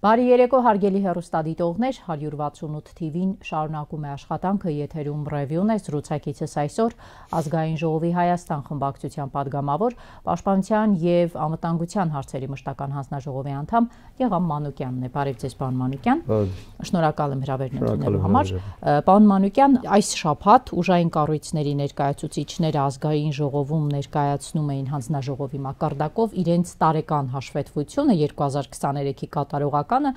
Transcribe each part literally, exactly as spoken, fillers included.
Բարի երեկո հարգելի հեռուստադիտողներ, հարյուր վաթսունութ թիվին շարունակում է աշխատանքը, եթերում ռևյուն է, զրուցակիցս այսօր Ազգային ժողովի Հայաստան խմբակցության падգամավոր, Պաշտպանության և անվտանգության հարցերի մշտական հանձնաժողովի անդամ Եղամ Մանուկյանն է։ Բարև ձեզ, պարոն Մանուկյան։ Շնորհակալ եմ հրավերն ընդունելու համար։ Պարոն Մանուկյան, այս շաբաթ ուժային կառույցների ներկայացուցիչները Ազգային ժողովում ներկայացնում էին հանձնաժողովի մակարդակով իրենց տարեկան հաշվետվությունը երկու հազար քսաներեքի կատարողականը,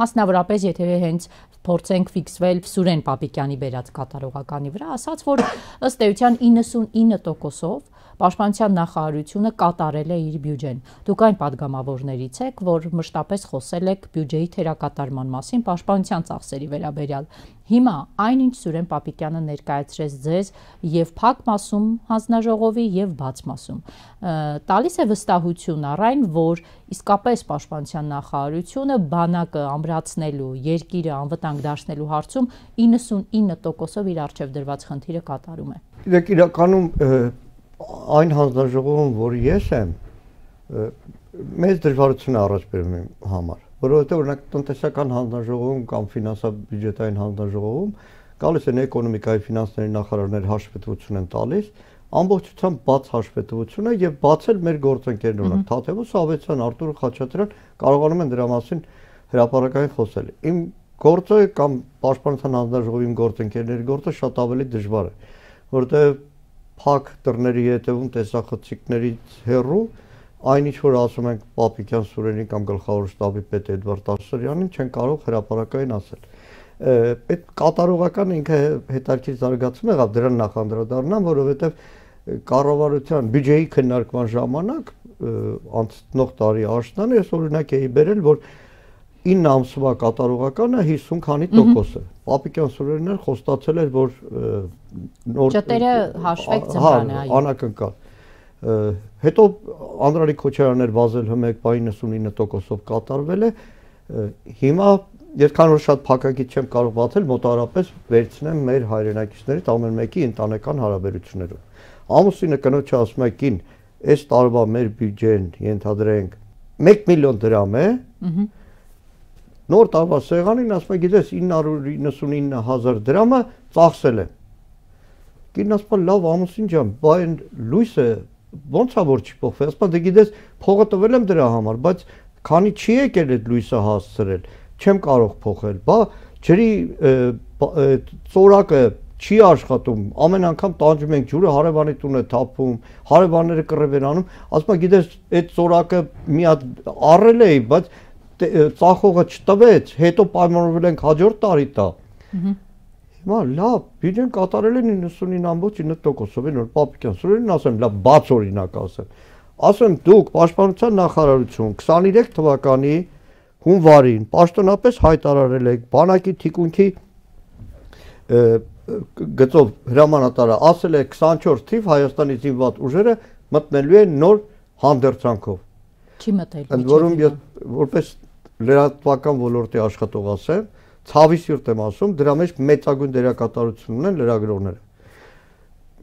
մասնավորապես եթե հենց փորձենք ֆիքսվել Սուրեն Պապիկյանի բերած կատարողականի վրա, ասաց, որ ըստ էության իննսունինը տոկոսով Պաշտպանության նախարարությունը կատարել է իր բյուջեն։ Դուք այն падգամավորներից եք, որ մշտապես խոսել եք բյուջեի թերակատարման մասին Պաշտպանության ծախսերի վերաբերյալ։ Հիմա այնինչ Սուրեն Պապիկյանը ներկայացրեց ձեզ եւ փակ մասում հանձնաժողովի եւ բաց մասում, տալիս է վստահություն առ այն, որ իսկապես Պաշտպանության նախարարությունը բանակը ամրացնելու, երկիրը անվտանգ դարձնելու հարցում իննսունինը տոկոսով իր առջև դրված խնդիրը կատարում է։ Իրեք իրականում այն հանձնաժողովում, որ ես եմ, մեծ դժվարություն է առաջ բերում իմ համար, որովհետև օրինակ տնտեսական հանձնաժողովում կամ ֆինանսա-բյուջետային հանձնաժողովում գալիս են էկոնոմիկայի ֆինանսների նախարարներ հաշվետվություն են տալիս, ամբողջությամբ բաց հաշվետվություն է եւ բացել մեր գործընկերներ, օրինակ Թաթևոս Ավետիսյան, Արտուր Խաչատրյան կարողանում են դրա մասին հրապարակային խոսել։ Իմ գործը կամ Պաշտպանության հանձնաժողովի իմ գործընկերների գործը շատ ավելի դժվար է, որովհետև փակ դռների հետևում տեսախցիկներից հեռու այն ինչ որ ասում ենք Պապիկյան Սուրենին կամ գլխավոր շտաբի պետ Էդվարդ Ասրյանին չեն կարող հրապարակային ասել։ Այդ կատարողական ինքը հետաքրքիր զարգացում եղավ, դրան նախանդրադառնամ, որովհետև կառավարության բյուջեի քննարկման ժամանակ անցնող տարի աշնանը ես օրինակ էի բերել, որ ինը ամսվա կատարողականը հիսուն քանի տոկոս է։ Պապիկյան Սուրենն խոստացել էր, որ ճտերը հաշվեք ձմռանը, այո, անակնկալ։ Հետո Անդրանիկ Քոչարյանն էր վազել հմեկ իննսունինը տոկոսով կատարվել է։ Հիմա երբքան որ շատ փակագիծ չեմ կարող բացել, մոտավորապես վերցնեմ մեր հայրենակիցներից ամեն մեկի ընտանեկան հարաբերություններով։ Ամուսինը կնոջը ասում է կին, այս տարվա մեր բյուջեն ենթադրենք մեկ միլիոն դրամ է։ Նոր տարվա սեղանին ասում է, գիտես ինը հարյուր իննսունինը հազար դրամը ծախսել է։ Կինն ասում է, լավ ամուսին ջան, բա այն լույսը ո՞նց է որ չի փոխվել։ Ասում է, դե գիտես փողը տվել եմ դրա համար, բայց քանի չի եկել այդ լույսը հասցրել, չեմ կարող փոխել։ Բա ջրի ծորակը չի աշխատում, ամեն անգամ տանջում ենք ջուրը, հարևանի տուն է թափվում, հարևանները կռիվ են անում, ասում է, գիտես այդ ծորակը մի հատ առել էի, բայց ծախողը չտվեց, հետո պայմանավորվել ենք հաջորդ տարի տա։ Հիմա լավ, բյուջեն կատարել են իննսունինը ամբողջ ինը տոկոսով, այն որ Պապիկյան Սուրենին ասեմ, լավ բաց օրինակ ասեմ։ Ասեմ դուք Պաշտպանության նախարարություն քսաներեք թվականի հունվարին պաշտոնապես հայտարարել եք բանակի թիկունքի գծով հրամանատարը ասել է քսանչորս թիվ Հայաստանի զինված ուժերը մտնելու են նոր հանդերձանքով։ Չի մտել։ Ընդ որում ես որպես լրատվական ոլորտի աշխատող ասեմ, ցավի սիրտ եմ ասում, դրա մեջ մեծագույն դերակատարություն ունեն լրագրողները։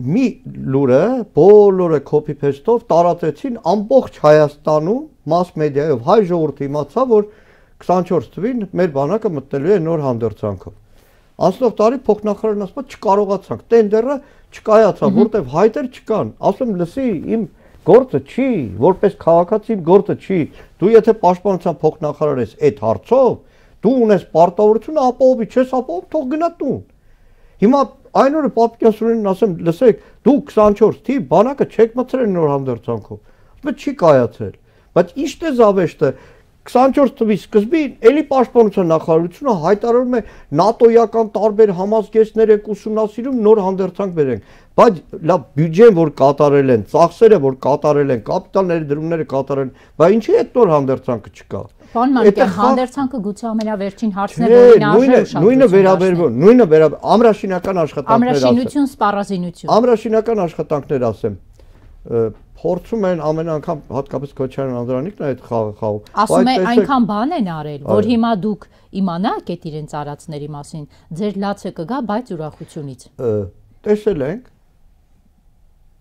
Մի լուրը բոլորը copy paste-ով տարածեցին ամբողջ Հայաստանում mass media-ով, հայ ժողովուրդը իմացավ, որ քսանչորս թվին մեր բանակը մտնելու է նոր հանդերձանքով։ Անցնող տարի փոխնախարարն ասում է չկարողացանք, տենդերը չկայացավ, որտեվ հայտեր չկան։ Ասում լսի, իմ գործը չի, որպես քաղաքացի գործը չի։ Դու եթե պաշտպանության փոխնախարար ես այդ հարցով, դու ունես պարտավորությունը ապահովի, չես ապահով, թող գնա տուն։ Հիմա այն օրը Պապիկյան Սուրենին ասեմ, լսեք, դու քսանչորս թիվ բանակը չեք մտցրել նոր հանդերձանքով։ Ասում է չի կայացել։ Բայց ի՞նչն է զավեշտը քսանչորս թվի սկզբին էլի Պաշտպանության նախարարությունը հայտարարում է նատոյական տարբեր համազգեստներ եք ուսումնասիրում նոր հանդերձանք բերենք, բայց լավ բյուջեն որ կատարել են, ծախսերը որ կատարել են, կապիտալ ներդրումները կատարել են, բայց ինչի՞ այդ նոր հանդերձանքը չկա։ Պարոն Մանուկյան, հանդերձանքը գուցե ամենավերջին հարցն է, որին արժե ուշադրություն։ Նույնը վերաբերվում, նույնը վերաբերվում ամրաշինական աշխատանքներ ասեմ։ Ամրաշինություն, սպառազինություն։ Ամրաշինական աշխատանքներ ասեմ։ Փորձում են ամեն անգամ հատկապես Քոչարյան Անդրանիկն այդ խաղը խաղում։ Ասում է այնքան բան են արել, որ հիմա դուք իմանաք այդ իրենց արածների մասին, ձեր լացը կգա, բայց ուրախությունից։ Տեսել ենք,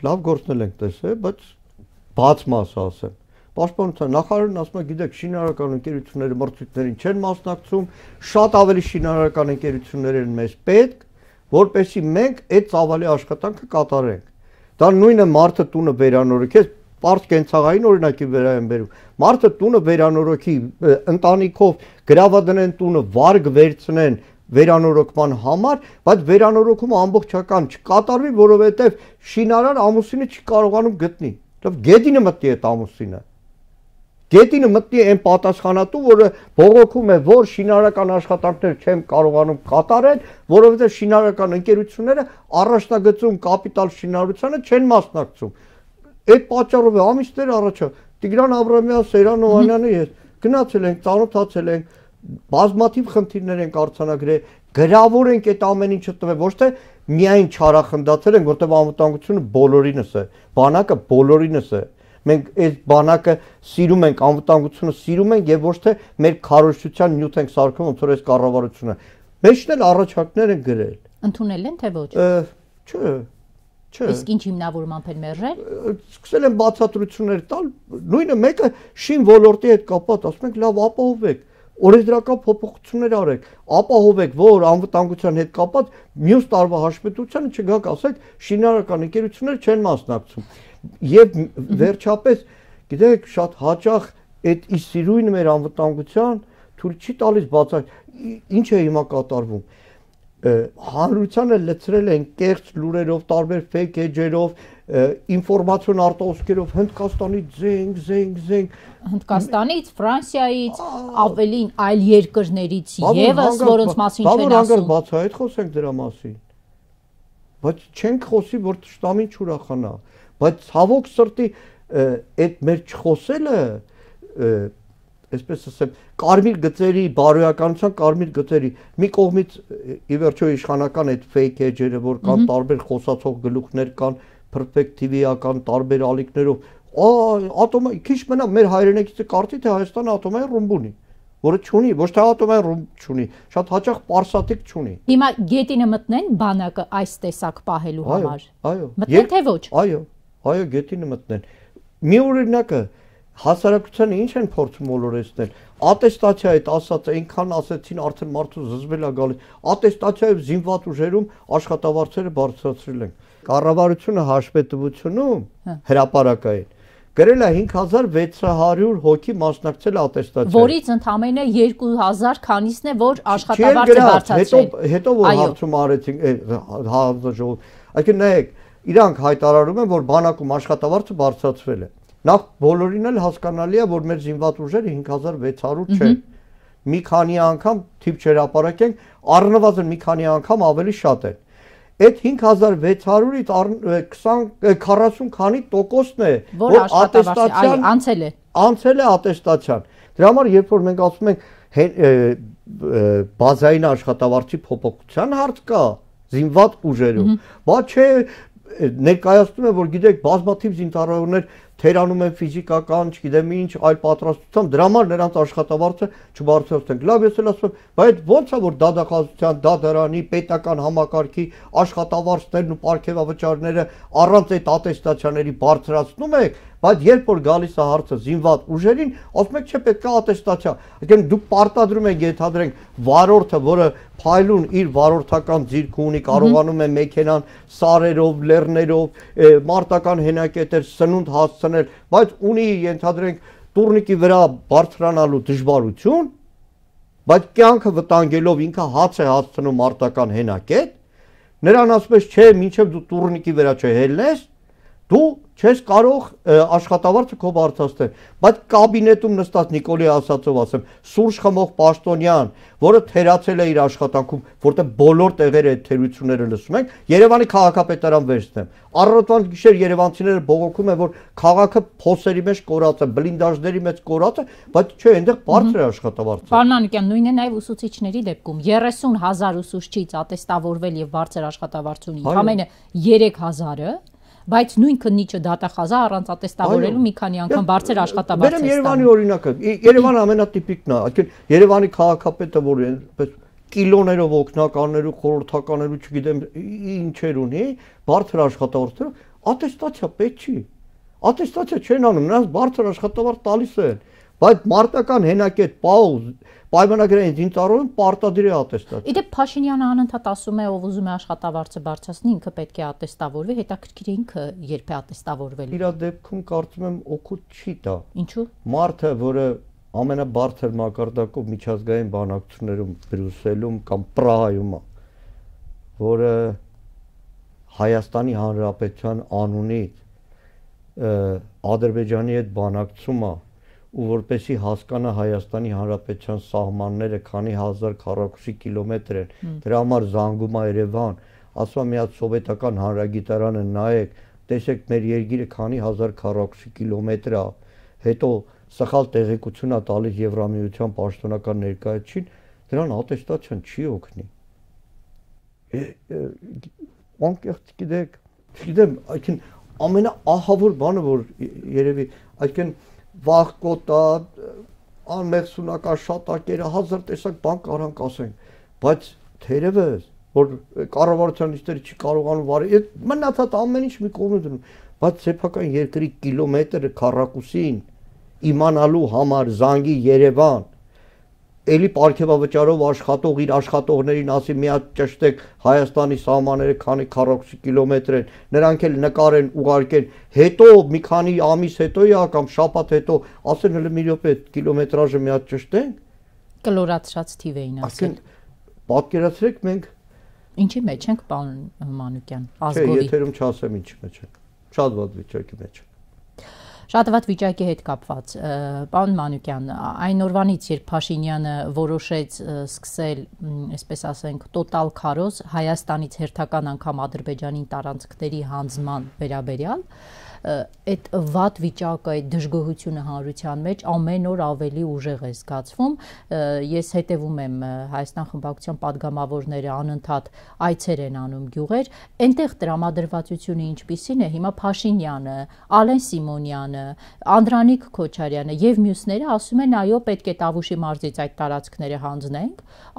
լավ գործնել ենք տեսել, բայց բաց մասը ասեմ։ Պաշտպանության նախարարն ասում է, գիտեք, շինարարական ընկերությունները մրցույթներին չեն մասնակցում, շատ ավելի շինարարական ընկերություններ են մեզ պետք, որպեսզի մենք այդ ծավալի աշխատանքը կատարենք։ Դա նույնը մարդը տունը վերանորոգի, պարզ կենցաղային օրինակի վրա եմ բերում։ Մարդը տունը վերանորոգի, ընտանիքով գրավադնեն տունը, վարգ վերցնեն վերանորոգման համար, բայց վերանորոգումը ամբողջական չկատարվի, որովհետև շինարար ամուսինը չի կարողանում գտնի։ Գետինը մտնի այդ ամուսինը։ Գետինը մտնի այն պատասխանատու, որը բողոքում է, որ շինարարական աշխատանքներ չեմ կարողանում կատարել, որովհետև շինարարական ընկերությունները առաջնագծում կապիտալ շինարարությանը չեն մասնակցում։ Այդ պատճառով է ամիսներ առաջ Տիգրան Աբրամյան, Սերան Օհանյանը ես գնացել ենք, ծանոթացել ենք, բազմաթիվ խնդիրներ ենք արձանագրել, գրավոր ենք այդ ամեն ինչը տվել, ոչ թե միայն չարախնդացել ենք, որտեղ անվտանգությունը բոլորինս է, բանակը բոլորինս է։ Մենք այդ բանակը սիրում ենք, անվտանգությունը սիրում ենք եւ ոչ թե մեր քարոզչության նյութ ենք սարքում, ոնց որ այս կառավարությունը։ Մեջն էլ առաջարկներ են գրել։ Ընդունել են թե ոչ։ Չէ։ Չէ։ Իսկ ինչ հիմնավորմամբ են մերժել։ Սկսել են բացատրություններ տալ, նույնը մեկը շին ոլորտի հետ կապված, ասում ենք լավ ապահովեք, օրենսդրական փոփոխություններ արեք, ապահովեք, որ անվտանգության հետ կապված մյուս տարվա հաշվետվությանը չգաք, ասեք շինարարական ընկերություններ չեն մասնակցում։ Եվ վերջապես, գիտեք, շատ հաճախ այդ իսիրույնը մեր անվտանգության թույլ չի տալիս բացակ։ Ինչ է հիմա կատարվում։ Հանրությանը լցրել են կեղծ լուրերով, տարբեր ֆեյք էջերով, ինֆորմացիոն արտահոսքերով Հնդկաստանից զենք, զենք, զենք, Հնդկաստանից, Ֆրանսիայից, ավելին այլ երկրներից եւս, որոնց մասին չեն ասում։ Բացա այդ խոսենք դրա մասին։ Բայց չենք խոսի, որ տշտամին չուրախանա։ Բայց ցավոք սրտի այդ մեր չխոսելը, այսպես ասեմ, կարմիր գծերի, բարոյականության կարմիր գծերի մի կողմից ի վերջո իշխանական այդ fake edge-երը, որ կան տարբեր խոսացող գլուխներ կան, perspective-ական տարբեր ալիքներով, ատոմը քիչ մնա մեր հայրենակիցը կարծի թե Հայաստանը ատոմային ռումբ ունի, որը չունի, ոչ թե ատոմային ռումբ չունի, շատ հաճախ պարսատիկ չունի։ Հիմա գետինը մտնեն բանակը այս տեսակ պահելու համար։ Այո, մտնեն թե ոչ։ Այո, այո, գետինը մտնեն։ Մի օրինակը հասարակությանը ինչ են փորձում մոլորեցնել։ Ատեստացիայից ասած այնքան ասեցին, արդեն մարդու զզվել է գալիս։ Ատեստացիայով զինված ուժերում աշխատավարձերը բարձրացրել են։ Կառավարությունը հաշվետվությունում հրապարակային գրել է հինգ հազար վեց հարյուր հոգի մասնակցել ատեստացիային։ Որից ընդամենը երկու հազար քանիսն է, որ աշխատավարձ է բարձրացրել։ Հետո հետո որ հարցում արեցին հանձնաժողով։ Այսինքն նայեք, իրանք հայտարարում են, որ բանակում աշխատավարձը բարձրացվել է։ Նախ բոլորին էլ հասկանալի է, որ մեր զինված ուժերը հինգ հազար վեց հարյուր չէ։ Մի քանի անգամ թիվ չհրապարակենք, առնվազն մի քանի անգամ ավելի շատ է։ Այդ հինգ հազար վեց հարյուրից քառասուն քանի տոկոսն է, որ ատեստացիան անցել է։ Անցել է ատեստացիան։ Դրա համար երբ որ մենք ասում ենք բազային աշխատավարձի փոփոխության հարց կա զինված ուժերում, բա չէ ներկայացնում է, որ գիտեք, բազմաթիվ զինծառայողներ թերանում են ֆիզիկական, չգիտեմ ինչ, այլ պատրաստությամբ, դրա համար նրանց աշխատավարձը չբարձրացնենք։ Լավ, ես էլ ասում եմ, բայց ո՞նց է, որ դատախազության, դատարանի, պետական համակարգի աշխատավարձներն ու պարգևավճարները առանց այդ ատեստացիաների բարձրացնում եք, բայց երբ որ գալիս է հարցը զինված ուժերին, ասում եք, չէ, պետք է ատեստացիա։ Այսինքն դուք պարտադրում եք, ենթադրենք, վարորդը, որը փայլուն իր վարորդական ձիրքը ունի, կարողանում է մեքենան սարերով, լեռներով, մարտական հենակետեր, սնունդ հասցնել, բայց ունի, ենթադրենք, տուրնիկի վրա բարձրանալու դժվարություն, բայց կյանքը վտանգելով ինքը հաց է հասցնում մարտական հենակետ, նրան ասում ես, չէ, մինչև դու տուրնիկի վրա չհելնես, դու չես կարող աշխատավարձը քո բարձրացնել, բայց կաբինետում նստած Նիկոլի ասածով ասեմ, սուրճ խմող պաշտոնյան, որը թերացել է իր աշխատանքում, որտեղ բոլոր տեղերը այդ թերությունները լսում ենք, Երևանի քաղաքապետարան վերցնեմ։ Առավոտվան գիշեր երևանցիները բողոքում են, որ քաղաքը փոսերի մեջ կորած է, բլինդաժների մեջ կորած է, բայց չէ, այնտեղ բարձր է աշխատավարձը։ Պարոն Անուկյան, նույնն է նաև ուսուցիչների դեպքում, երեսուն հազար ուսուցչից ատեստավորվել եւ բարձր աշխատավարձ ունի, ամենը երեք հազարը, բայց նույն քննիչը դատախազա առանց ատեստավորելու մի քանի անգամ բարձր աշխատավարձ է ստանում։ Բերեմ Երևանի օրինակը։ Երևանը ամենատիպիկն է, այսինքն Երևանի քաղաքապետը, որ այնպես կիլոներով օգնականներու, խորհրդականներու, չգիտեմ ինչեր ունի, բարձր աշխատավարձերով, ատեստացիա պետք չի։ Ատեստացիա չեն անում, նրանց բարձր աշխատավարձ տալիս են, բայց մարտական հենակետ պաուզ պայմանագրային զինծառայողին պարտադիր է ատեստացիա։ Իդեպ Փաշինյանը անընդհատ ասում է, ով ուզում է աշխատավարձը բարձրացնի, ինքը պետք է ատեստավորվի, հետաքրքիր է ինքը երբ է ատեստավորվել։ Իր դեպքում կարծում եմ օգուտ չի տա։ Ինչու՞։ Մարդը, որը ամենաբարձր մակարդակով միջազգային բանակցություններում Բրյուսելում կամ Պրահայում է, որը Հայաստանի Հանրապետության անունից Ադրբեջանի հետ բանակցում է ու որպեսի հասկանա Հայաստանի Հանրապետության սահմանները քանի հազար քառակուսի կիլոմետր են, դրա համար զանգում է Երևան, ասում է մի հատ սովետական հանրագիտարանը նայեք, տեսեք մեր երկիրը քանի հազար քառակուսի կիլոմետր է, հետո սխալ տեղեկություն է տալիս Եվրամիության պաշտոնական ներկայացուցիչին, դրան ատեստացիան չի օգնի։ Անկեղծ գիտեք, չգիտեմ, այսինքն ամենաահավոր բանը, որ երևի, այսինքն վախկոտա, անմեղսունական շատակերը, հազար տեսակ բան կարանք ասենք, բայց թերևս, որ կառավարության նիստերը չի կարողանում վարել, մնացած ամեն ինչ մի կողմ դնում, բայց սեփական երկրի կիլոմետրը քառակուսին իմանալու համար զանգի Երևան, էլի պարգևավճարով աշխատող իր աշխատողներին ասի մի հատ ճշտեք Հայաստանի սահմանները քանի քառակուսի կիլոմետր են, նրանք էլ նկարեն, ուղարկեն, հետո մի քանի ամիս հետո է կամ շաբաթ հետո ասեն հələ մի րոպե կիլոմետրաժը մի հատ ճշտենք։ Կլորացրած թիվ էին ասել։ Պատկերացրեք մենք ինչի մեջ ենք, պարոն Մանուկյան, ազգովի։ Չէ, եթերում չասեմ ինչի մեջ ենք։ Շատ վատ վիճակի մեջ ենք։ Շատ վատ վիճակի հետ կապված, պարոն Մանուկյան, այն օրվանից, երբ Փաշինյանը որոշեց սկսել, այսպես ասենք, տոտալ քարոզ Հայաստանից հերթական անգամ Ադրբեջանին տարանցքների հանձնման վերաբերյալ, այդ վատ վիճակը, այդ դժգոհությունը հանրության մեջ ամեն օր ավելի ուժեղ է զգացվում։ Ես հետևում եմ Հայաստան խմբակցության падգամավորները անընդհատ այցեր են անում գյուղեր, այնտեղ տրամադրվածությունը ինչպիսին է, հիմա Փաշինյանը, Ալեն Սիմոնյանը, Անդրանիկ Քոչարյանը եւ մյուսները ասում են, այո, պետք է Տավուշի մարզից այդ տարածքները հանձնենք,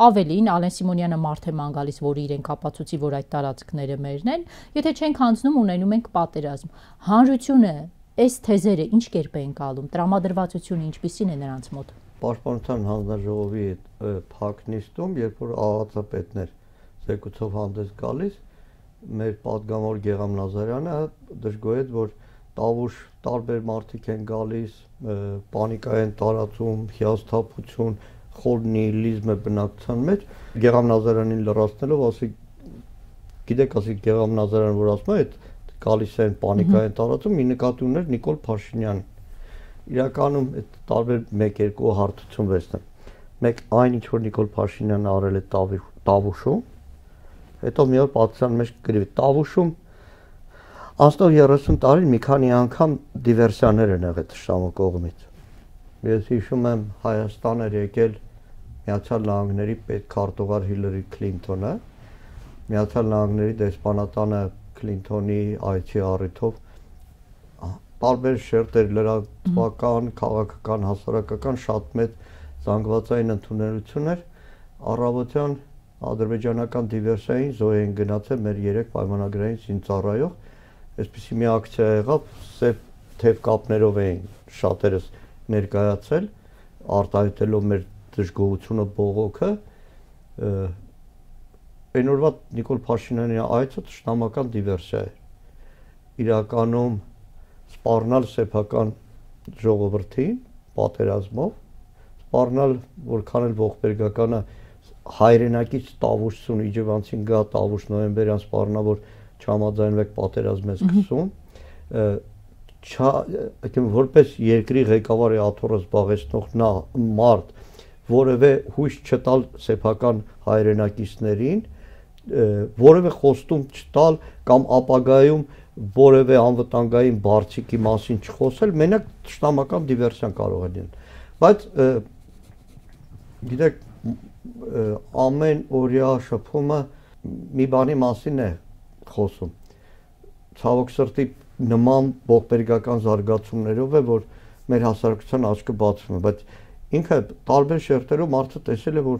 ավելին Ալեն Սիմոնյանը մարդ է ման գալիս, որ իրենք ապացուցի, որ այդ տարածքները մերն են, եթե չենք հանձնում, ունենում ենք պատերազմ։ Հանրությունը այս թեզերը ինչ կերպ է ընկալում, տրամադրվածությունը ինչպիսին է նրանց մոտ։ Պաշտպանության հանձնաժողովի փակ նիստում, երբ որ ԱԱԾ-պետներ զեկուցով հանդես գալիս, մեր падգամավոր Գեգամ Նազարյանը դժգոհեց, որ Տավուշ տարբեր մարդիկ են գալիս, պանիկա են տարածում, հիասթափություն, խոր նիհիլիզմ է բնակության մեջ։ Գեգամ Նազարյանին լրացնելով ասի, գիտեք, ասի Գեգամ Նազարյանը, որ ասում է, այդ գալիս են պանիկա են տարածում, մի նկատի ուներ Նիկոլ Փաշինյանը։ Իրականում այդ տարբեր մեկ-երկու հարթություն վերցնեմ։ Մեկ այն ինչ որ Նիկոլ Փաշինյանը արել է Տավուշում, հետո մի օր պատասխան մեջ գրի Տավուշում անցնող երեսուն տարին մի քանի անգամ դիվերսիաներ են եղել թշնամու կողմից։ Ես հիշում եմ Հայաստան էր եկել Միացյալ Նահանգների պետքարտուղար Հիլարի Քլինթոնը, Միացյալ Նահանգների դեսպանատանը Քլինթոնի այցի առիթով տարբեր շերտեր լրատվական, քաղաքական, հասարակական շատ մեծ զանգվածային ընդունելություն էր, առավոտյան ադրբեջանական դիվերսիային զոհ են գնացել մեր երեք պայմանագրային զինծառայող, այսպիսի մի ակցիա եղավ, սև թև կապներով էին շատերս ներկայացել, արտահայտելով մեր դժգոհությունը, բողոքը, այն օրվա Նիկոլ Փաշինյանի այցը թշնամական դիվերսիա էր, իրականում սպառնալ սեփական ժողովրդին պատերազմով, սպառնալ որքան էլ ողբերգականը հայրենակից Տավուշցուն իջևանցին գա Տավուշ նոյեմբերյան սպառնա, որ չհամաձայնվեք պատերազմ է սկսում, որպես երկրի ղեկավարի աթոռը զբաղեցնող նա մարդ, որևէ հույս չտալ սեփական հայրենակիցներին, որևէ խոստում չտալ կամ ապագայում որևէ անվտանգային բարձիկի մասին չխոսել, մենակ թշնամական դիվերսիան կարող է լինել։ Բայց գիտեք, ամեն օրյա շփումը մի բանի մասին է խոսում։ Ցավոք սրտի նման ողբերգական զարգացումներով է, որ մեր հասարակության աչքը բացվում է, բայց ինքը տարբեր շերտերով մարդը տեսել է, որ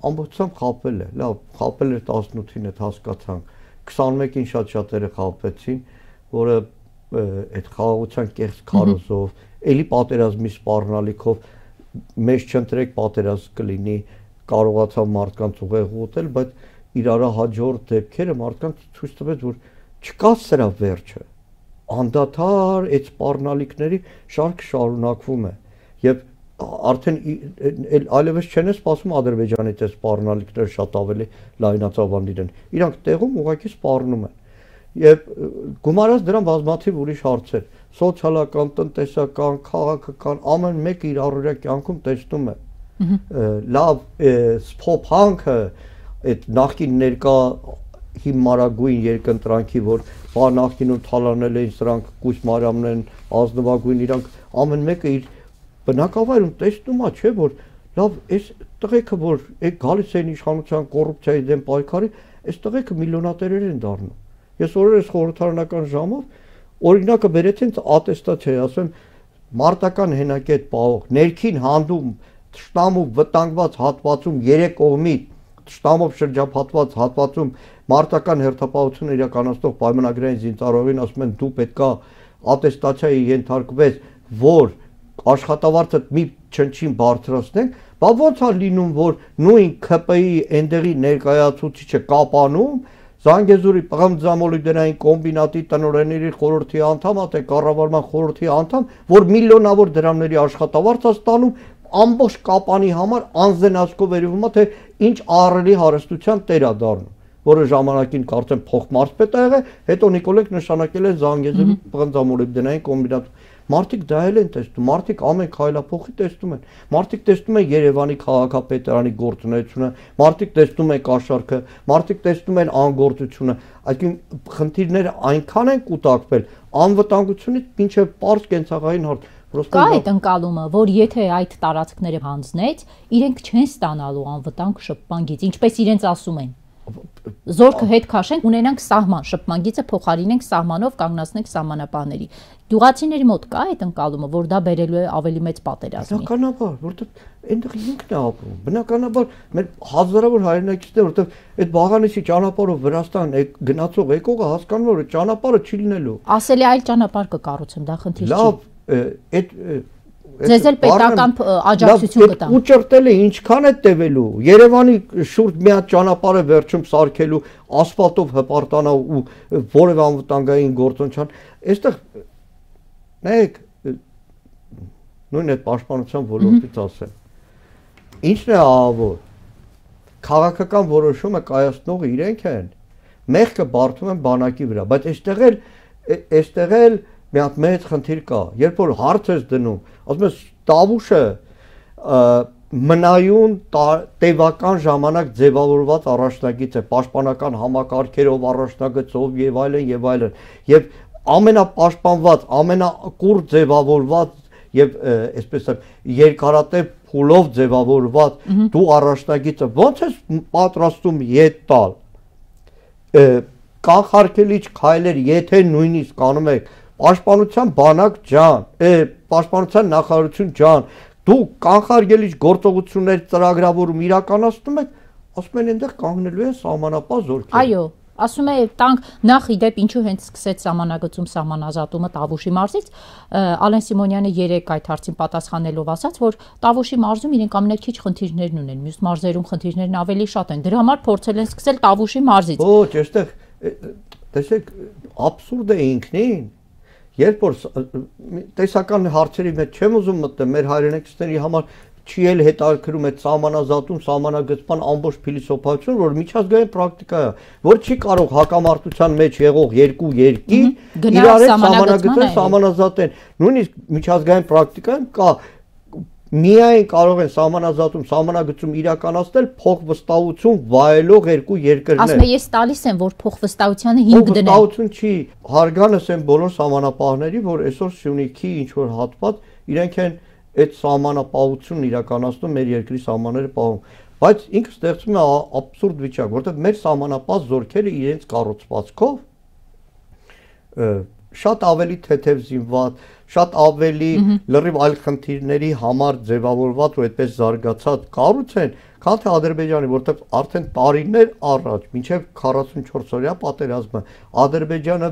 ամբողջությամբ խաբվել է, լավ, խաբվել էր տասնութին, այդ հասկացանք, քսանմեկին շատ շատերը խաբվեցին, որը այդ խաղաղության կեղծ քարոզով, էլի պատերազմի սպառնալիքով մեզ չընտրեք պատերազմ կլինի, կարողացավ մարդկանց ուղեղ ուտել, բայց իրար հաջորդ դեպքերը մարդկանց ցույց տվեց, որ չկա սրա վերջը։ Անդադար այդ սպառնալիքների շարքը շարունակվում է եւ արդեն այլևս չեն սպասում Ադրբեջանից այս սպառնալիքները շատ ավելի լայնածավալ լինեն։ Իրանք տեղում ուղղակի սպառնում են։ Եվ գումարած դրան բազմաթիվ ուրիշ հարցեր, սոցիալական, տնտեսական, քաղաքական, ամեն մեկը իր առօրյա կյանքում տեսնում է։ Լավ սփոփանքը այդ նախկին ներկա հիմարագույն երկընտրանքի, որ բա նախկինում թալանել էին սրանք Կույս Մարիամներն, ազնվագույն, իրանք ամեն մեկը իր բնակավայրում տեսնում է, չէ, որ լավ այս տղեկը, որ այդ գալիս են իշխանության կոռուպցիայի դեմ պայքարի, այս տղեկը միլիոնատերեր են դառնում։ Ես օրերս խորհրդարանական ժամով օրինակը բերեցին ատեստացիա, ասեմ մարտական հենակետ պահող, ներքին հանդում, թշնամու վտանգված հատվածում երեք կողմի թշնամով շրջապատված հատվածում մարտական հերթապահություն իրականացնող պայմանագրային զինծառայողին ասում են դու պետքա ատեստացիայի ենթարկվես, որ աշխատավարձը մի չնչին բարձրացնենք, բա ո՞նց է լինում, որ նույն K P I այնտեղի ներկայացուցիչը Կապանում Զանգեզուրի պղմձամոլիբդենային կոմբինատի տնօրենների խորհրդի անդամ, թե կառավարման խորհրդի անդամ, որ միլիոնավոր դրամների աշխատավարձ է ստանում, ամբողջ Կապանի համար անզենացկով վերվում է, թե ինչ ահռելի հարստության տեր է դառնում, որը ժամանակին կարծեմ փոխմարզպետ է եղել, հետո Նիկոլենք նշանակել է Զանգեզուրի պղմձամոլիբդենային կոմբինատում։ Մարդիկ դա էլ են տեսնում, մարդիկ ամեն քայլափոխի տեսնում են, մարդիկ տեսնում են Երևանի քաղաքապետարանի գործունեությունը, մարդիկ տեսնում են կաշառքը, մարդիկ տեսնում են անգործությունը, այսինքն խնդիրները այնքան են կուտակվել անվտանգությունից մինչև պարզ կենցաղային հարց։ Կա այդ ընկալումը, որ եթե այդ տարածքները հանձնեց, իրենք չեն ստանալու անվտանգ շփման գիծ, ինչպես իրենց ասում են։ Զորքը հետ քաշենք, ունենանք սահման, շփման գիծը փոխարինենք սահմանով, կանգնացնենք սահմանապահների։ Գյուղացիների մոտ կա այդ ընկալումը, որ դա բերելու է ավելի մեծ պատերազմի։ Բնականաբար, որովհետև այնտեղ ինքն է ապրում։ Բնականաբար մեր հազարավոր հայրենակիցներ, որովհետև այդ Բաղանիսի ճանապարհով Վրաստան գնացող եկողը հասկանում է, որ ճանապարհը չի լինելու։ Ասել է այլ ճանապարհ կկառուցեմ, դա խնդիր չի։ Լավ, այդ Ձեզ էլ պետական աջակցություն կտան։ Ու ճրտել է ինչքան է տևելու։ Երևանի շուրջ մի հատ ճանապարհը վերջում սարքելու, ասֆալտով հպարտանալ ու որևէ անվտանգային գործոն չան։ Այստեղ նայեք, նույն այդ պաշտպանության ոլորտից ասեմ։ Ինչն է ահավոր։ Քաղաքական որոշումը կայացնողը իրենք են։ Մեղքը բարդում են բանակի վրա, բայց այստեղ էլ այստեղ էլ մի հատ մեծ խնդիր կա, երբ որ հարց ես դնում, ասում ես Տավուշը մնայուն տևական ժամանակ ձևավորված առաջնագիծ է, պաշտպանական համակարգերով, առաջնագծով եւ այլն եւ այլն, եւ ամենապաշտպանված, ամենակուր ձևավորված եւ այսպես երկարատև փուլով ձևավորված դու առաջնագիծը ո՞նց ես պատրաստում ետ տալ։ Կանխարգելիչ քայլեր, եթե նույնիսկ անում եք Պաշտպանության բանակ ջան, պաշտպանության նախարարություն ջան, դու կանխարգելիչ գործողություններ ծրագրավորում իրականացնում եք, ասում են այնտեղ կանգնելու են սահմանապահ զորքեր։ Այո, ասում է տանկ նախ իդեպ ինչու հենց սկսեց սահմանագծում սահմանազատումը Տավուշի մարզից, Ալեն Սիմոնյանը երեք այդ հարցին պատասխանելով ասաց, որ Տավուշի մարզում իրենք ամենաքիչ խնդիրներն ունեն, մյուս մարզերում խնդիրներն ավելի շատ են, դրա համար փորձել են սկսել Տավուշի մարզից։ Ոչ, այստեղ տեսեք, աբսուրդ է ինքնին։ Երբ որ տեսական հարցերի մեջ չեմ ուզում մտնել, մեր հայրենակիցների համար չի էլ հետաքրում այդ սահմանազատում, սահմանագծման ամբողջ փիլիսոփայությունը, որ միջազգային պրակտիկա է, որ չի կարող հակամարտության մեջ եղող երկու երկիր իրար հետ սահմանագծեն, սահմանազատեն։ Նույնիսկ միջազգային պրակտիկայում կա միայն կարող են սահմանազատում, սահմանագծում իրականացնել փոխվստահություն վայելող երկու երկրներ։ Ասում եմ, ես տալիս եմ, որ փոխվստահությանը հիմք դնեն։ Փոխվստահություն չի, հարգանս են բոլոր սահմանապահների, որ այսօր Սյունիքի ինչ որ հատված իրենք են այդ սահմանապահությունն իրականացնում, մեր երկրի սահմանները պահում։ Բայց ինքը ստեղծում է աբսուրդ վիճակ, որտեղ մեր սահմանապահ զորքերը իրենց կառուցվածքով շատ ավելի թեթև զինված, շատ ավելի լրիվ այլ խնդիրների համար ձևավորված ու այդպես զարգացած կառույց են, քան թե Ադրբեջանի, որտեղ արդեն տարիներ առաջ, մինչև քառասունչորս օրյա պատերազմը, Ադրբեջանը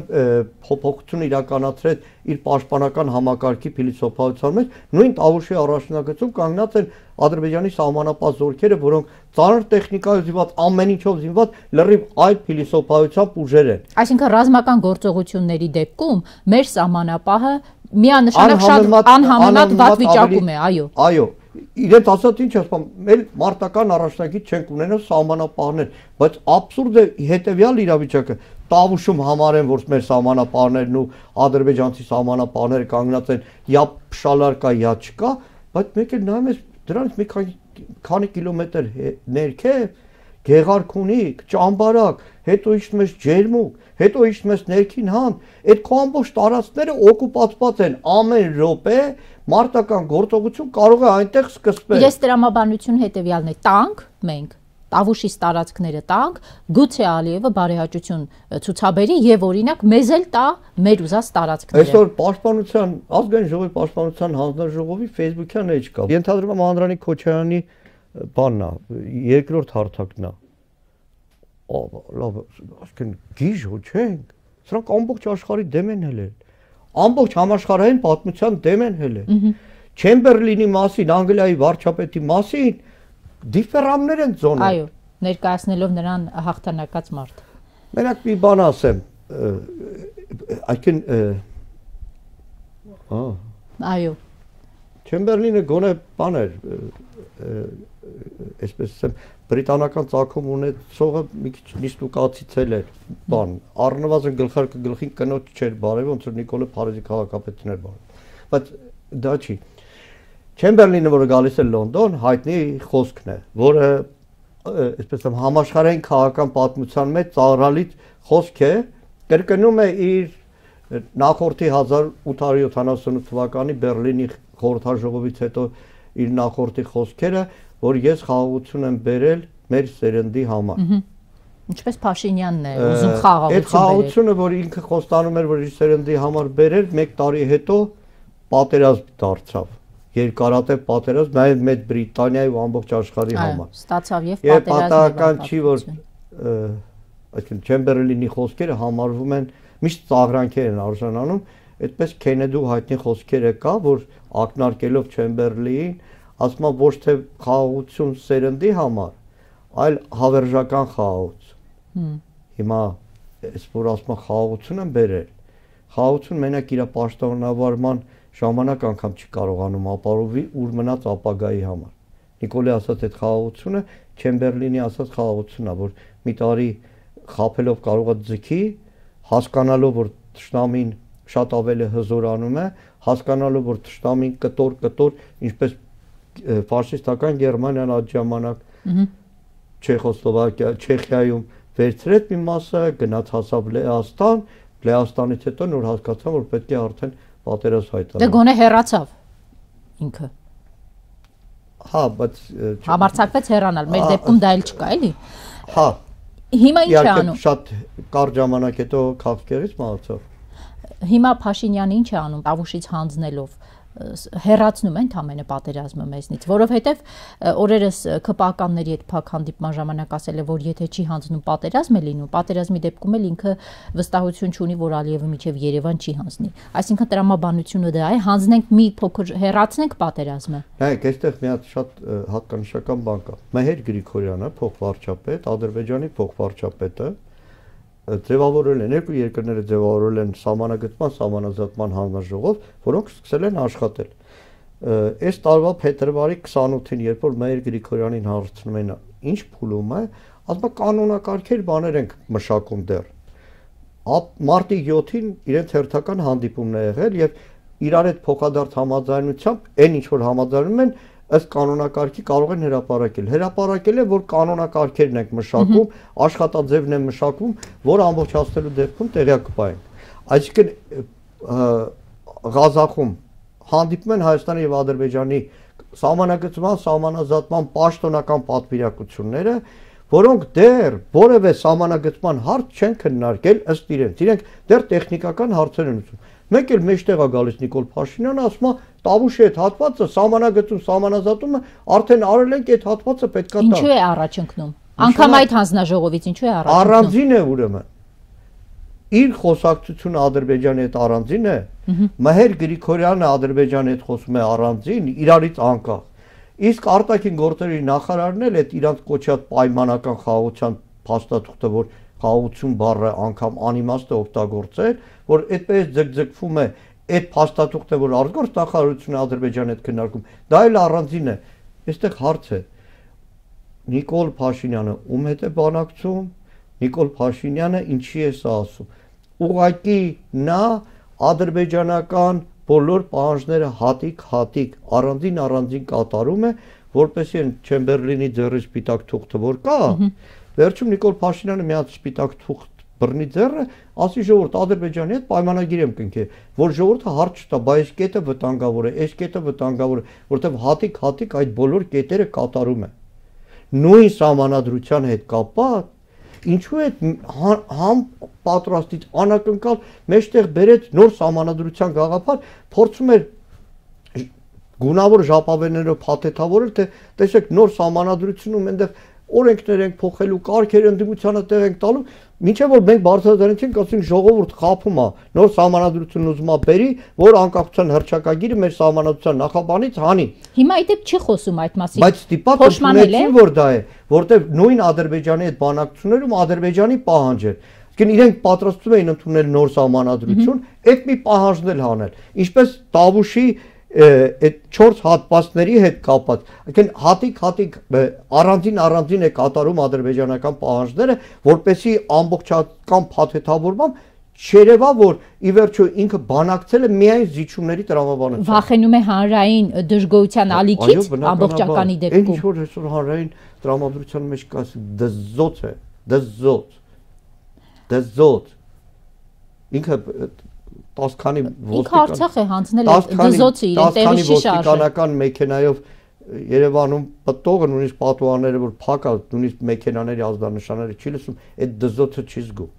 փոփոխություն իրականացրեց իր պաշտպանական համակարգի փիլիսոփայության մեջ, նույն Տավուշի առաջնագծում կանգնած են Ադրբեջանի սահմանապահ զորքերը, որոնք ծանր տեխնիկայով զինված, ամեն ինչով զինված, լրիվ այդ փիլիսոփայությամբ ուժեր են։ Այսինքն ռազմական գործողությունների դեպքում մեր սահմանապահը միանշանակ շատ անհամեմատ վատ վիճակում է, այո։ Այո, իրենց ասած ինչ ասում, մեր մարտական առաջնագիծ չենք ունենալ սահմանապահներ, բայց աբսուրդը հետևյալ իրավիճակը, Տավուշում համարեն, որ մեր սահմանապահներն ու ադրբեջանցի սահմանապահները կանգնած են յա փշալար կա, յա չկա, բայց մեկ էլ նայում ես դրանից մի քանի կիլոմետր ներքև Գեղարքունիք, Ճամբարակ, հետո իջնում ես Ջերմուկ, հետո իջնում ես ներքին հան, այդ քո ամբողջ տարածքները օկուպացված են ամեն րոպե, մարտական գործողություն կարող է այնտեղ սկսվել։ Ես տրամաբանություն հետևյալն է, տանք մենք, Տավուշի տարածքները տանք, գուցե Ալիևը բարեհաճություն ցուցաբերի եւ օրինակ մեզ էլ տա մեր ուզած տարածքները։ Այսօր պաշտպանության ազգային ժողովի պաշտպանության հանձնաժողովի Facebook-յան էջ կա։ Ենթադրում եմ Անդրանիկ Քոչարյանի բանն է, երկրորդ հարթակն է։ Լավ, ասեն գիժ հո չենք։ Սրանք ամբողջ աշխարհի դեմ են հելել։ Ամբողջ համաշխարհային պատմության դեմ են հելել։ Չեմբերլինի մասին, Անգլիայի վարչապետի մասին դիֆերամներ են ծոնել։ Այո, ներկայացնելով նրան հաղթանակած մարդ։ Մենակ մի բան ասեմ, այսինքն ահա Այո։ Չեմբերլինը գոնե բան էր, այսպես ասեմ, բրիտանական ցակում ունեցողը մի քիչ նիստուկացիցել էր, բան, առնվազն գլխարկը գլխին կնոջ չէր բարև, ոնց որ Նիկոլե Փարիզի քաղաքապետն էր բարև։ Բայց դա չի։ Չեմբերլինը, որը գալիս է Լոնդոն, հայտնի խոսքն է, որը այսպես ասեմ համաշխարհային քաղաքական պատմության մեջ ծաղրալից խոսք է, կրկնում է իր նախորդի հազար ութ հարյուր յոթանասունութ թվականի Բերլինի խորհրդաժողովից հետո իր նախորդի խոսքերը, որ ես խաղաղություն եմ բերել մեր սերնդի համար։ Ինչպես Փաշինյանն է ուզում խաղաղություն բերել։ Այդ խաղաղությունը, որ ինքը խոստանում էր, որ իր սերնդի համար բերել, մեկ տարի հետո պատերազմ դարձավ։ Երկարատև պատերազմ նաև Մեծ Բրիտանիայի ու ամբողջ աշխարհի համար։ Ստացավ եւ պատերազմը։ Եվ պատահական չի, որ այսինքն Չեմբերլինի խոսքերը համարվում են միշտ ծաղրանքեր են արժանանում, այդպես Քենեդու հայտնի խոսքերը կա, որ ակնարկելով Չեմբերլին, ասում է ոչ թե խաղաղություն սերնդի համար, այլ հավերժական խաղաղություն։ Հիմա այս որ ասում է խաղաղություն են բերել, խաղաղություն մենակ իր պաշտոնավարման ժամանակ անգամ չի կարողանում ապարովի ուր մնաց ապագայի համար։ Նիկոլի ասած այդ խաղաղությունը Չեմբերլինի ասած խաղաղությունն է, որ մի տարի խափելով կարող է ձգի, հասկանալով որ թշնամին շատ ավելի հզորանում է, հասկանալով որ թշնամին կտոր-կտոր, ինչպես ֆաշիստական Գերմանիան այդ ժամանակ Չեխոսլովակիա, Չեխիայում վերցրեց մի մասը, գնաց հասավ Լեհաստան, Լեհաստանից հետո նոր հասկացան, որ պետք է արդեն պատերազմ հայտարարել։ Դե գոնե հեռացավ ինքը։ Հա, բայց համարձակվեց հեռանալ, մեր դեպքում դա էլ չկա, էլի։ Հա։ Հիմա ինչ է անում։ Շատ կարճ ժամանակ հետո քաղաքերից մահացավ։ Հիմա Փաշինյանը ինչ է անում Տավուշից հանձնելով, հեռացնում են ընդամենը պատերազմը մեզնից, որովհետև օրերս ԿՊԱ-ականների հետ փակ հանդիպման ժամանակ ասել է, որ եթե չի հանձնում պատերազմ է լինում, պատերազմի դեպքում էլ ինքը վստահություն չունի, որ Ալիևը միջև Երևան չի հանձնի։ Այսինքն տրամաբանությունը դա է, հանձնենք մի փոքր հեռացնենք պատերազմը։ Նայեք, այստեղ մի հատ շատ հատկանշական բան կա։ Մեհեր Գրիգորյանը, փոխվարչապետ, Ադրբեջանի փոխվարչապետը ձևավորել են, երկու երկրները ձևավորել են սահմանագծման, սահմանազատման հանձնաժողով, որոնք սկսել են աշխատել։ Այս տարվա փետրվարի քսանութին, երբ որ Մեհեր Գրիգորյանին հարցնում են, ինչ փուլում է, ասում է կանոնակարգեր բաներ ենք մշակում դեռ։ Մարտի յոթին իրենց հերթական հանդիպումն է եղել եւ իրար հետ փոխադարձ համաձայնությամբ, այն ինչ որ համաձայնում են, ըստ կանոնակարգի կարող են հրապարակել։ Հրապարակել է, որ կանոնակարգերն ենք մշակում, աշխատաձևն են մշակում, որ ամբողջացնելու դեպքում տեղյակ կպայենք։ Այսինքն Ղազախում հանդիպում են Հայաստանի եւ Ադրբեջանի սահմանագծման, սահմանազատման պաշտոնական պատվիրակությունները, որոնք դեռ որևէ սահմանագծման հարց չեն քննարկել ըստ իրենց։ Իրենք դեռ տեխնիկական հարցեր են ուզում։ Մեկ էլ մեջտեղ է գալիս Նիկոլ Փաշինյանը, ասում է Տավուշի այդ հատվածը սահմանագծում, սահմանազատումը արդեն արել ենք, այդ հատվածը պետքա տա։ Ինչու է առաջ ընկնում։ Անկամ այդ հանձնաժողովից ինչու է առաջ ընկնում։ Առանձին է ուրեմն։ Իր խոսակցությունը Ադրբեջանի հետ առանձին է։ Մհեր Գրիգորյանը Ադրբեջանի հետ խոսում է առանձին, իրարից անկախ։ Իսկ արտաքին գործերի նախարարն էլ այդ իրանց կոչած պայմանական խաղաղության փաստաթուղթը, որ խաղաղություն բառը անգամ անիմաստ է օգտագործել, որ այդպես ձգձգվում է այդ փաստաթուղթը, որ արտգործ նախարարությունը Ադրբեջանի հետ քննարկում, դա էլ առանձին է։ Այստեղ հարց է. Նիկոլ Փաշինյանը ում հետ է բանակցում, Նիկոլ Փաշինյանը ինչի է սա ասում։ Ուղղակի նա ադրբեջանական բոլոր պահանջները հատիկ-հատիկ առանձին առանձին կատարում է, որպեսզի այն Չեմբերլինի ձեռի սպիտակ թուղթը որ կա, վերջում Նիկոլ Փաշինյանը միած սպիտակ թուղթ բռնի ձեռը, ասի ժողովուրդ Ադրբեջանի հետ պայմանագիր եմ կնքել, որ ժողովուրդը հարց չտա, բայց այս կետը վտանգավոր է, այս կետը վտանգավոր է, որտեղ հատիկ-հատիկ այդ բոլոր կետերը կատարում է։ Նույն սահմանադրության հետ կապված ինչու է համ պատրաստից անակնկալ մեջտեղ բերեց նոր սահմանադրության գաղափար, փորձում էր գունավոր ժապավեններով փաթեթավորել, թե տեսեք նոր սահմանադրությունում այնտեղ օրենքներ ենք փոխելու, կարգեր ընդդիմությանը տեղ ենք տալու, մինչև որ մենք բարձրացնենք, ասենք ժողովուրդ խափում է, նոր սահմանադրություն ուզում է բերի, որ անկախության հռչակագիրը մեր սահմանադրության նախաբանից հանի։ Հիմա այդ չի խոսում այդ մասին։ Բայց ստիպակ ընդունեցին, որ դա է, որտեղ նույն Ադրբեջանի հետ բանակցություններում Ադրբեջանի պահանջ էր։ Իսկ իրենք պատրաստվում էին ընդունել նոր սահմանադրություն, այդ մի պահանջն էլ հանել։ Ինչպես Տավուշի այդ չորս հատվածների հետ կապված, այսինքն հատիկ-հատիկ առանձին առանձին է կատարում ադրբեջանական պահանջները, որպեսզի ամբողջական փաթեթավորմամբ չերևա, որ ի վերջո ինքը բանակցել է միայն զիջումների տրամաբանությամբ։ Վախենում է հանրային դժգոհության ալիքից ամբողջականի դեպքում։ Ինչ որ այսօր հանրային տրամադրության մեջ կա դզոց է, դզոց, դզոց։ Ինքը տասը քանի ինքը Արցախ է հանձնել դզոցը իրեն տեղի չի շարժել։ Ոստիկանական մեքենայով Երևանում պտտողը նույնիսկ պատուհանները որ փակ է, նույնիսկ մեքենաների ազդանշանները չի լսում, այդ դզոցը չի զգում։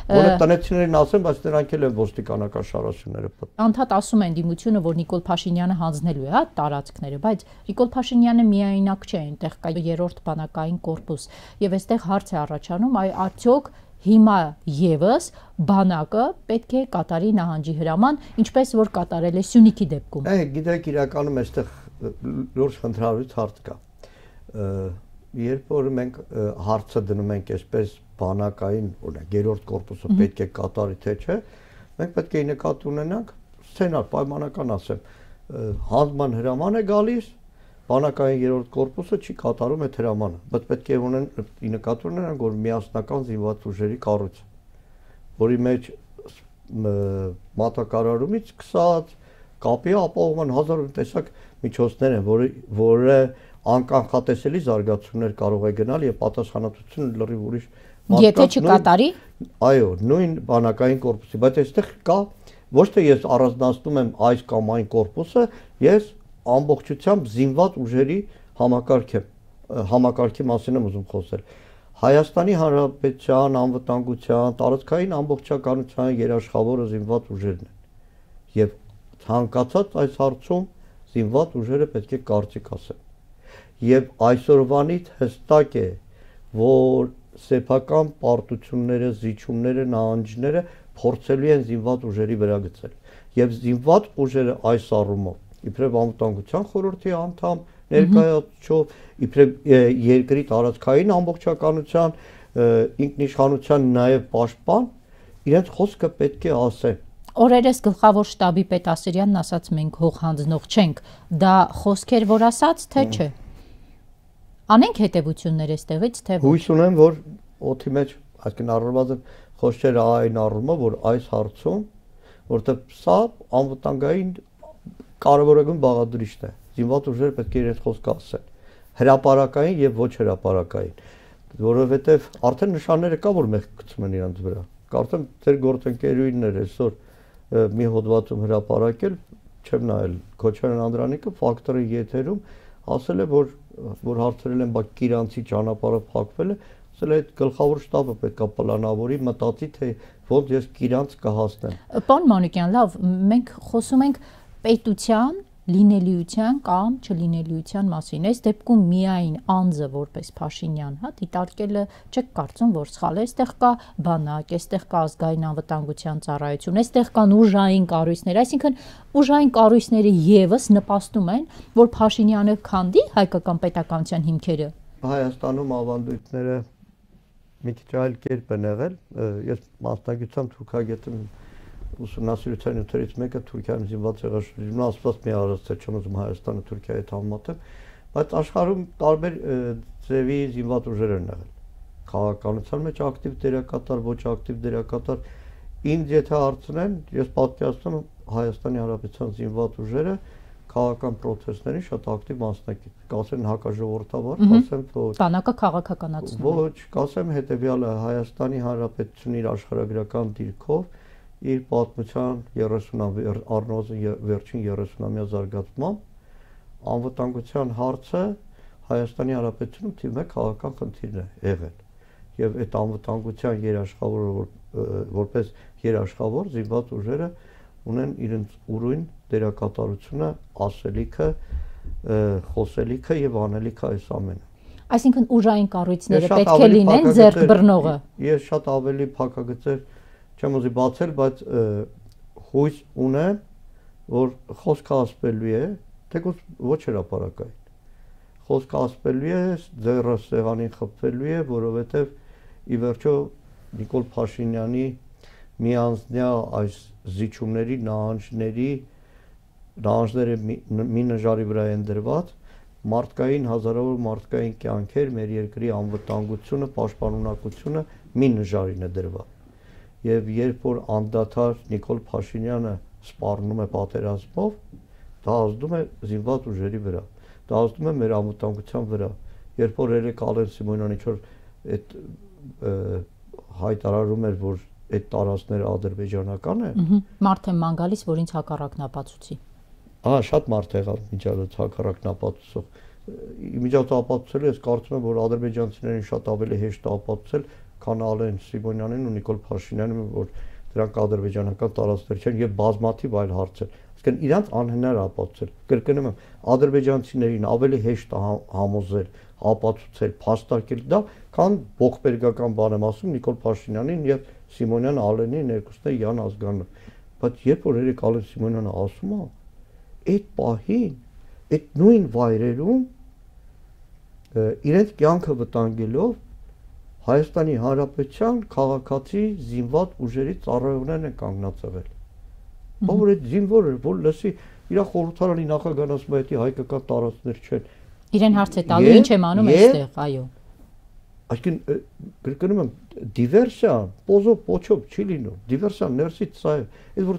Որը տնեցիներին ասեմ, բայց նրանք էլ են ոստիկանական շարասյունները պտտում։ Անդադ ասում են դիմությունը, որ Նիկոլ Փաշինյանը հանձնելու է հա տարածքները, բայց Նիկոլ Փաշինյանը միայնակ չէ, այնտեղ կա երրորդ բանակային կորպուս, եւ այստեղ հարց է առաջանում, այ արդյոք հիմա եւս բանակը պետք է կատարի նահանջի հրաման, ինչպես որ կատարել է Սյունիքի դեպքում։ Է, գիտեք, իրականում այստեղ լուրջ խնդրալից հարց կա։ Երբ որ մենք հարցը դնում ենք այսպես բանակային, օրինակ, երրորդ կորպուսը պետք է կատարի, թե չէ, մենք պետք է նկատի ունենանք սցենար, պայմանական ասեմ, հանձնման հրաման է գալիս, բանակային երրորդ կորպուսը չի կատարում այդ հրամանը, բայց պետք է ունեն նկատի ունենանք, որ միասնական զինված ուժերի կառույց, որի մեջ մատակարարումից սկսած կապի ապահովման հազար տեսակ միջոցներ են, որը անկանխատեսելի զարգացումներ կարող է գնալ եւ պատասխանատվությունը լրիվ ուրիշ Եթե չկատարի։ Այո, նույն բանակային կորպուսի, բայց այստեղ կա ոչ թե ես առանձնացնում եմ այս կամ այն կորպուսը, ես ամբողջությամբ զինված ուժերի համակարգ եմ, համակարգի մասին եմ ուզում խոսել։ Հայաստանի Հանրապետության անվտանգության, տարածքային ամբողջականության երաշխավորը զինված ուժերն են։ Եվ ցանկացած այս հարցում զինված ուժերը պետք է կարծիք ասեն։ Եվ այսօրվանից հստակ է, որ սեփական պարտությունները, զիջումները, նահանջները փորձելու են զինված ուժերի վրա գցել։ Եվ զինված ուժերը այս առումով, իբրև անվտանգության խորհրդի անդամ ներկայացուցիչ, իբրև երկրի տարածքային ամբողջականության, ինքնիշխանության նաև պաշտպան, իրենց խոսքը պետք է ասեն։ Օրերս գլխավոր շտաբի պետ Ասիրյանն ասաց մենք հող հանձնող չենք, դա խոսք էր որ ասաց, թե չէ։ Անենք հետևություններ այստեղից, թե ոչ։ Հույս ունեմ, որ օդի մեջ, այսինքն առնվազն խոսքերը այն առումով, որ այս հարցում, որտեղ սա անվտանգային կարևորագույն բաղադրիչն է, զինված ուժերը պետք է իրենց խոսքը ասեն, հրապարակային եւ ոչ հրապարակային, որովհետեւ արդեն նշանները կա, որ մեղք գցում են իրենց վրա։ Կարծեմ ձեր գործընկերուհիներ այսօր մի հոդվածում հրապարակել, չեմ նայել, Քոչարյան Անդրանիկը ֆակտորի եթերում ասել է, որ որ հարցրել են, բայց Կիրանցի ճանապարհը փակվել է, ասել է այդ գլխավոր շտաբը պետք է պլանավորի, մտածի, թե ոնց ես Կիրանց կհասնեմ։ Պարոն Մանուկյան, լավ, մենք խոսում ենք պետության լինելիության կամ չլինելիության մասին։ Այս դեպքում միայն անձը որպես Փաշինյան, հա, դիտարկելը չեք կարծում, որ սխալ է, այստեղ կա բանակ, այստեղ կա ազգային անվտանգության ծառայություն, այստեղ կան ուժային կառույցներ, այսինքն ուժային կառույցները եւս նպաստում են, որ Փաշինյանը քանդի հայկական պետականության հիմքերը։ Հայաստանում ավանդույթները մի քիչ այլ կերպ են եղել, ես մասնագիտությամբ թուրքագետ եմ, ուսումնասիրության նյութերից մեկը Թուրքիայում զինված եղաշրջումն ասված մի առաստ չեմ ուզում Հայաստանը Թուրքիայի հետ համեմատել, բայց աշխարհում տարբեր ձևի զինված ուժեր են եղել։ Քաղաքականության մեջ ակտիվ դերակատար, ոչ ակտիվ դերակատար։ Ինձ եթե հարցնեն, ես պատկերացնում եմ Հայաստանի Հանրապետության զինված ուժերը քաղաքական process-ների շատ ակտիվ մասնակից։ Կասեն հակաժողովրդավար, կասեն որ բանակը քաղաքականացնում։ Ոչ, կասեմ հետեւյալը, Հայաստանի Հանրապետությունը իր աշխարհագրական դիրքով իր պատմության երեսունամյա առնվազն վերջին երեսունամյա զարգացմամբ անվտանգության հարցը Հայաստանի Հանրապետությունում թիվ մեկ քաղաքական խնդիրն է եղել։ Եվ այդ անվտանգության երաշխավորը որպես երաշխավոր զինված ուժերը ունեն իրենց ուրույն դերակատարությունը, ասելիքը, խոսելիքը եւ անելիքը այս ամենը։ Այսինքն ուժային կառույցները պետք է լինեն ձեռք բռնողը։ Ես շատ ավելի փակագծեր չեմ ուզի բացել, բայց հույս ունեմ, որ խոսքը ասպելու է, թեկուզ ոչ հրապարակային։ Խոսքը ասպելու է, ձեռը սեղանին խփվելու է, որովհետև ի վերջո Նիկոլ Փաշինյանի միանձնյա այս զիջումների, նահանջների, նահանջները մի նժարի վրա են դրված, մարդկային հազարավոր մարդկային կյանքեր, մեր երկրի անվտանգությունը, պաշտպանունակությունը մի նժարին է դրված։ Եվ երբ որ անդադար Նիկոլ Փաշինյանը սպառնում է պատերազմով, դա ազդում է զինված ուժերի վրա, դա ազդում է մեր անվտանգության վրա։ Երբ որ երեք Ալեն Սիմոնյանը ինչ-որ այդ հայտարարում էր, որ այդ տարածքները ադրբեջանական են, մարդ եմ ման գալիս, որ ինձ հակառակն ապացուցի։ Ահա շատ մարդ եղավ միջազգ հակառակն ապացուցող։ Միջազգ ապացուցել ես կարծում եմ, որ ադրբեջանցիներին շատ ավելի հեշտ է ապացուցել, քան Ալեն Սիմոնյանին ու Նիկոլ Փաշինյանին, որ դրանք ադրբեջանական տարածքներ չեն եւ բազմաթիվ այլ հարցեր։ Իսկն իրանց անհնար ապացուցել։ Կրկնում եմ, ադրբեջանցիներին ավելի հեշտ է համոզել, ապացուցել, փաստարկել դա, քան ողբերգական բան եմ ասում Նիկոլ Փաշինյանին եւ Սիմոնյան Ալենին երկուսն է Յան ազգանունով։ Բայց երբ որ երեք Ալեն Սիմոնյանը ասում է, այդ պահին, այդ նույն վայրերում իրենց կյանքը վտանգելով Հայաստանի Հանրապետության քաղաքացի զինված ուժերի ծառայողներն են կանգնած եղել։ Որ այդ զինվորը, որ լսի իր խորհրդարանի նախագահն ասում է, դա հայկական տարածքներ չեն։ Իրեն հարց է տալու, ինչ եմ անում այստեղ, այո։ Այսինքն կրկնում եմ, դիվերսիան, պոզո պոչով չի լինում։ Դիվերսիան ներսից սա է։ Այդ որ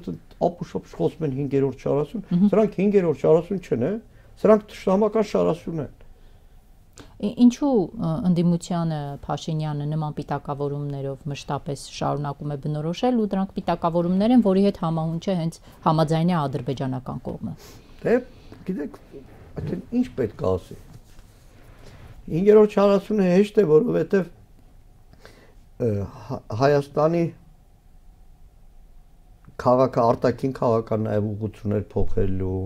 ապուշոպ խոսում են հինգերորդ շարասյուն, սրանք հինգերորդ շարասյուն չեն, է։ Սրանք թշնամական շարասյուն են։ Ինչու ընդդիմությանը Փաշինյանը նման պիտակավորումներով մշտապես շարունակում է բնորոշել ու դրանք պիտակավորումներ են, որի հետ համահունչ է հենց համաձայնի ադրբեջանական կողմը։ Դե, գիտեք, այդտեղ ինչ պետք է ասի։ հինգերորդ շարասյունը հեշտ է, որովհետև Հայաստանի քաղաքը արտաքին քաղաքական նաև ուղղություններ փոխելու,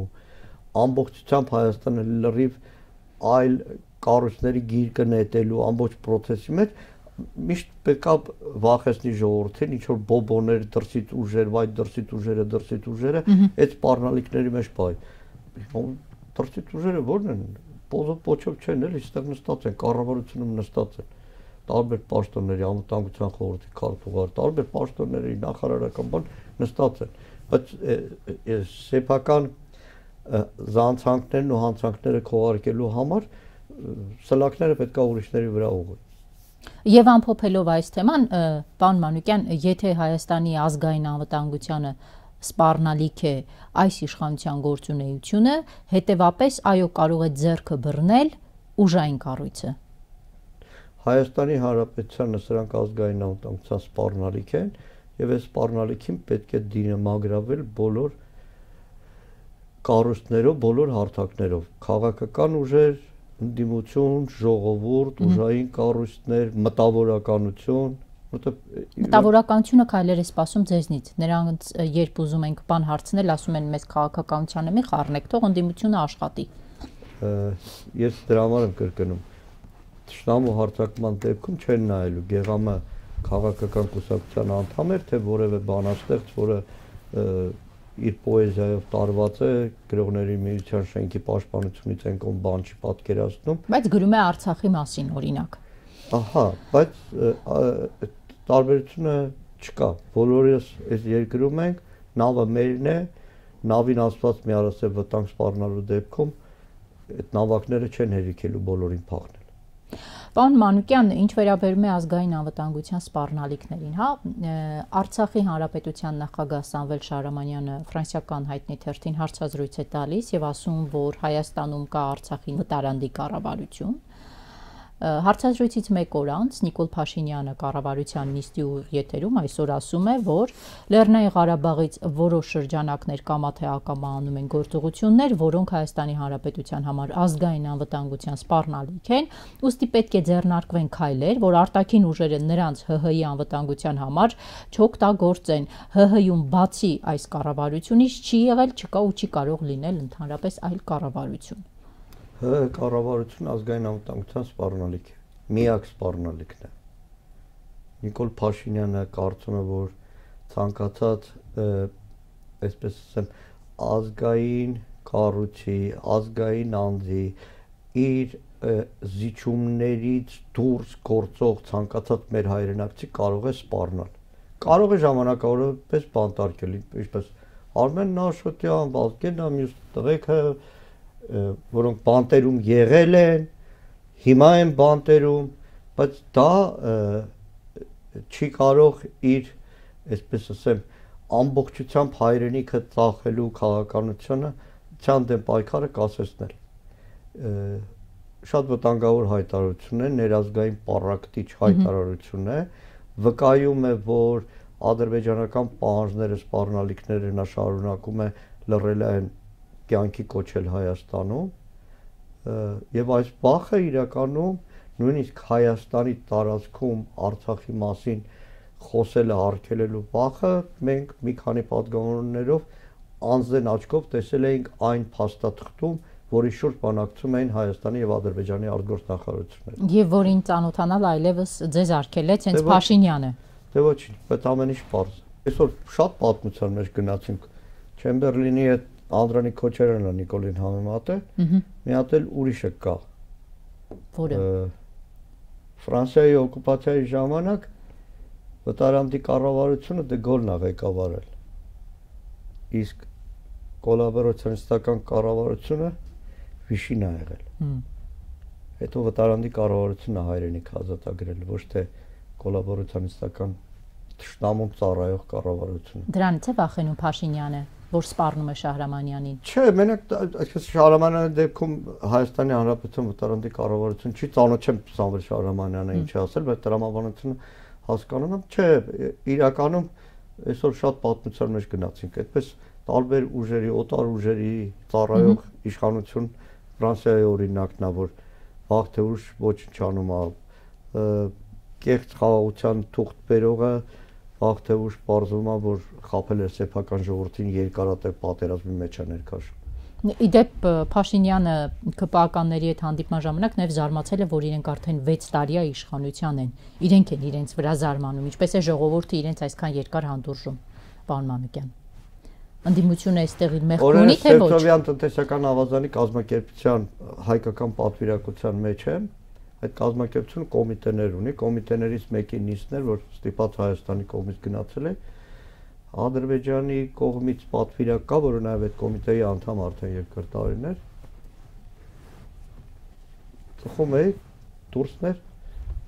ամբողջությամբ Հայաստանը լրիվ այլ կառույցների գիրկը նետելու ամբողջ process-ի մեջ միշտ պետք է վախեցնի ժողովրդին, ինչ որ բոբոներ, դրսից ուժեր, վայ դրսից ուժերը, դրսից ուժերը, այդ սպառնալիքների մեջ բայ։ Դրսից ուժերը ո՞րն են։ Պոզով պոչով չեն, էլի, այստեղ նստած են, կառավարությունում նստած են։ Տարբեր պաշտոնների, անվտանգության խորհրդի քարտուղար, տարբեր պաշտոնների նախարարական բան նստած են։ Բայց սեփական զանցանքներն ու հանցանքները քողարկելու համար սլակները պետք է ուրիշների վրա ուղղի։ Եվ ամփոփելով այս թեման, պարոն Մանուկյան, եթե Հայաստանի ազգային անվտանգությանը սպառնալիք է այս իշխանության գործունեությունը, հետևապես այո կարող է ձեռքը բռնել ուժային կառույցը։ Հայաստանի Հանրապետությանը սրանք ազգային անվտանգության սպառնալիք են եւ այս սպառնալիքին պետք է դիմագրավել բոլոր կառույցներով, բոլոր հարթակներով, քաղաքական ուժեր, ընդդիմություն, ժողովուրդ, ուժային կառույցներ, մտավորականություն, Մտավորականությունը քայլեր է սպասում ձեզնից։ Նրանց երբ ուզում ենք բան հարցնել, ասում են մեզ քաղաքականությանը մի խառնեք, թող ընդդիմությունը աշխատի։ Ես դրա համար եմ կրկնում։ Թշնամու հարձակման դեպքում չեն նայելու գեղամը քաղաքական կուսակցության անդամ էր, թե որևէ բանաստեղծ, որը իր պոեզիայով տարված է, գրողների միության շենքի պաշտպանությունից են կողմ բան չի պատկերացնում։ Բայց գրում է Արցախի մասին, օրինակ։ Ահա, բայց տարբերությունը չկա։ Բոլորս այս երկրում ենք, նավը մերն է, նավին ասված մի առասել վտանգ սպառնալու դեպքում այդ նավակները չեն հերիքելու բոլորին փախնել։ Պարոն Մանուկյան, ինչ վերաբերում է ազգային անվտանգության սպառնալիքներին, հա, Արցախի Հանրապետության նախագահ Սամվել Շահրամանյանը ֆրանսիական հայտնի թերթին հարցազրույց է տալիս եւ ասում, որ Հայաստանում կա Արցախի վտարանդի կառավարություն։ Հարցազրույցից մեկ օր անց Նիկոլ Փաշինյանը կառավարության նիստի եթերում այսօր ասում է, որ Լեռնային Ղարաբաղից որոշ շրջանակներ կամա թե ակամա անում են գործողություններ, որոնք Հայաստանի Հանրապետության համար ազգային անվտանգության սպառնալիք են, ուստի պետք է ձեռնարկվեն քայլեր, որ արտաքին ուժերը նրանց ՀՀ-ի անվտանգության համար չօգտագործեն։ ՀՀ-ում բացի այս կառավարությունից չի եղել, չկա ու չի կարող լինել ընդհանրապես այլ կառավարություն։ ՀՀ կառավարությունը ազգային անվտանգության սպառնալիք է, միակ սպառնալիքն է։ Նիկոլ Փաշինյանը կարծում է, որ ցանկացած, այսպես ասեմ, ազգային կառույցի, ազգային անձի իր զիջումներից դուրս գործող ցանկացած մեր հայրենակցի կարող է սպառնալ։ Կարող է ժամանակավորապես բանտարկել, ինչպես Արմեն Նաշոտյան, Վազգեն Ամյուս տղեկը, որոնք բանտերում եղել են, հիմա են բանտերում, բայց դա չի կարող իր, այսպես ասեմ, ամբողջությամբ հայրենիքը ծախելու քաղաքականությունը ցան դեմ պայքարը կասեցնել։ Շատ վտանգավոր հայտարարություն է, ներազգային պառակտիչ հայտարարություն է, վկայում է, որ ադրբեջանական պահանջները, սպառնալիքները նա շարունակում է լռել այն կյանքի կոչել Հայաստանում եւ այս բախը իրականում նույնիսկ Հայաստանի տարածքում Արցախի մասին խոսելը արգելելու բախը մենք մի քանի պատգամավորներով անձեն աչքով տեսել էինք այն փաստաթղթում, որի շուրջ բանակցում էին Հայաստանի եւ Ադրբեջանի արտգործնախարարությունները։ Եվ որին ծանոթանալ այլևս ձեզ արգելեց հենց Փաշինյանը։ Դե ոչինչ, բայց ամեն ինչ պարզ է։ Այսօր շատ պատմության մեջ գնացինք Չեմբերլինի հետ Անդրանիկ Քոչարյանը Նիկոլին համեմատը, մի հատ էլ ուրիշը կա։ Որը Ֆրանսիայի օկուպացիայի ժամանակ վտարանդի կառավարությունը դե Գոլն ա ղեկավարել։ Իսկ կոլաբորացիոնիստական կառավարությունը Վիշին ա եղել։ Հետո վտարանդի կառավարությունը հայրենիք ազատագրել, ոչ թե կոլաբորացիոնիստական թշնամուն ծառայող կառավարությունը։ Դրանից է վախենում Փաշինյանը, որ սպառնում է Շահրամանյանին։ Չէ, մենակ այսպես Շահրամանյանի դեպքում Հայաստանի Հանրապետության վտարանդի կառավարություն չի, ծանոթ չեմ Սամվել Շահրամանյանը ինչ է ասել, բայց տրամաբանությունը հասկանում եմ, չէ, իրականում այսօր շատ պատմության մեջ գնացինք, այդպես տարբեր ուժերի, օտար ուժերի ծառայող իշխանություն Ֆրանսիայի օրինակն է, որ վաղ թե ուշ ոչինչ անում է, կեղծ խաղաղության թուղթ բերողը վաղ թե ուշ պարզվում է, որ խաբել է սեփական ժողովրդին երկարատև պատերազմի մեջ է ներքաշում։ Իդեպ Փաշինյանը ԿՊԱ-կանների հետ հանդիպման ժամանակ նաև զարմացել է, որ իրենք արդեն վեց տարի է իշխանության են։ Իրենք են իրենց վրա զարմանում, ինչպես է ժողովուրդը իրենց այսքան երկար հանդուրժում, պարոն Մանուկյան։ Ընդդիմությունը այստեղ իր մեղք ունի թե ոչ։ Սերտովյան տնտեսական ավազանի կազմակերպության հայկական պատվիրակության մեջ է, այդ կազմակերպությունը կոմիտեներ ունի, կոմիտեներից մեկի նիստն էր, որ ստիպած Հայաստանի կողմից գնացել է, Ադրբեջանի կողմից պատվիրակ կա, որը նաև այդ կոմիտեի անդամ արդեն երկար տարիներ, ծխում էի, դուրսներ,